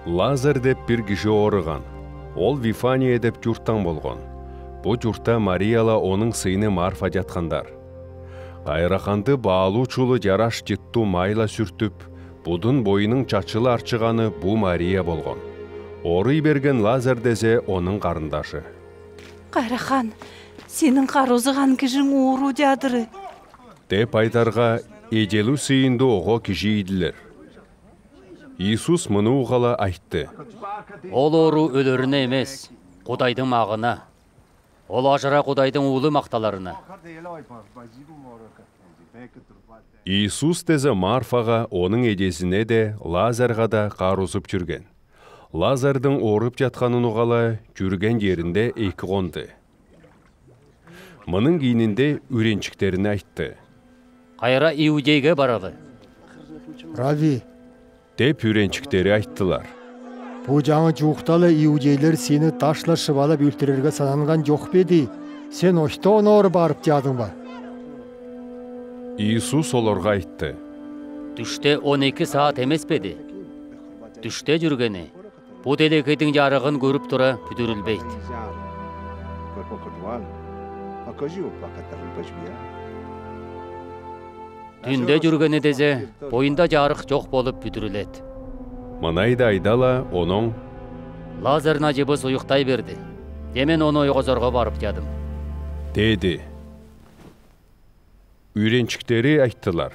Лазар деп бир киши ооруган. Ол Вифания деп журттан болгон. Бу журтта Марияла онун сыйны Марфа жаткандар. Кайраканды баалуу чулу жараш жыттуу майла сүртүп, будун боюнун чачылы арчыганы бу Мария болгон. Ооруй берген Лазар десе онун карындашы. Кайрахан, сенин кароозуган кишиң оору жадыры. Деп айдарга эжелүү сыйынды ого киши идилер. Иисус муну угала айтты. Ол оору өлөрүнө эмес, Кудайдын магына. Ол ажыра Кудайдын уулу макталарына. Иисус дезе Марфага, онун эжесине де, Лазарга да кароозуп жүргөн. Лазардын ооруп жатканын угала жүргөн жеринде эки конду. Мунун кийининде үренчиктерине айтты. Кайра Иудейге баралы. Рави, Деп үренчиктери айттылар. бу жаңы жукталы иудейлер сени ташлашып алып өлтүрөргө сананган жок беди? Сен оштон оор барып жадыңбы? Иисус олорго айтты. Түштө 12 саат эмеспеди? Түштө жүргөнү бу делекейдин жарыгын көрүп тура бүтүрүлбейт. Түндө жүргөнү дезе боюнда жарык жок болуп бүтүрүлөт. Мынайды айдала онун Лазардын ажыбы суюктай берди. Мен ону ойгозорго барып жадым. деди. Үренчиктери айттылар.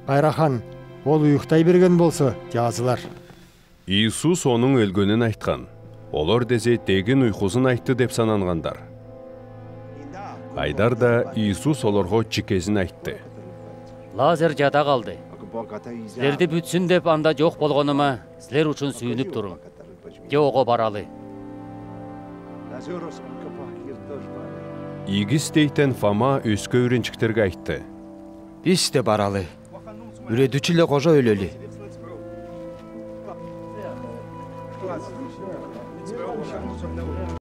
Кайрахан, ол уюктай берген болсо жазылар. Иисус онун өлгөнүн айткан. Олор дезе тегин уйкусун айтты деп санангандар. Айдар да Иисус олорго чикесин айтты. Лазар жада калды. Силерди бүтсүн деп анда жок болгонума силер үчүн сүйүнүп турум. Ого баралы. Игис дейтен Фома өскө үренчиктерге айтты. Биз де баралы. Үрөдүчү эле кожо өлөлү.